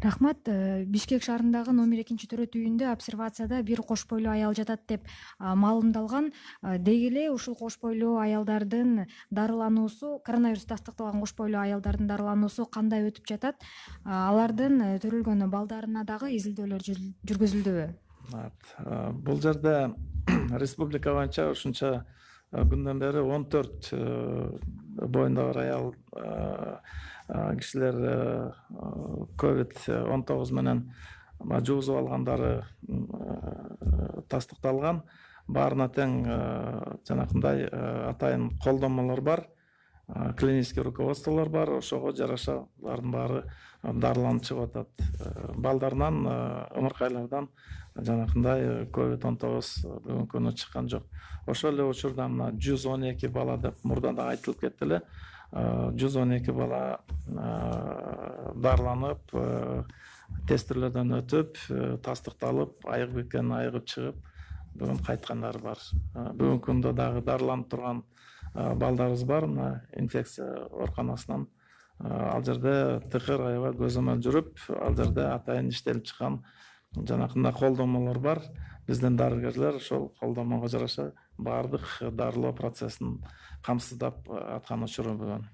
Рахмат. Бишкек шаарындагы номер 2-төрөт үйүндө обсервацияда бир кош бойлуу аял жатат деп маалымдалган. Деги эле ушул кош бойлуу аялдардын дарылануусу, коронавирус тастыкталган кош бойлуу аялдардын дарылануусу кандай өтүп жатат? Алардын төрөлгөн балдарына дагы изилдөөлөр жүргүзүлдүбү? Бул жерде республика боюнча ушунча күндөн бери 14 боюнда бар аял кишилер COVID-19 менен жугузуп алгандары тастыкталган. Баарына тең жанакындай атайын колдомолор бар, клинический руководстволор бар, ошого жараша булардын баары дарыланып чыгып атат. Балдарынан, ымыркайлардан жанакындай COVID-19 бүгүнкү күнү чыккан жок. Ошол эле учурда мына 112 бала деп мурда да айтылып кетти эле. 112 бала дарыланып, тестирлерден өтүп, тастыкталып, айыгып кеткен, айыгып чыгып, бүгүн кайткандар бар. Бүгүнкү күндө дагы дарыланып турган балдарыбыз бар. Мына инфекция ооруканасынан ал жерде тыкыр аябай көзөмөл жүрүп, ал жерде атайын иштелип чыккан жанакындай колдомолор бар. Биздин дарыгерлер ошол колдомого жараша баардык дарылоо процессин камсыздап аткан учуру бүгүн.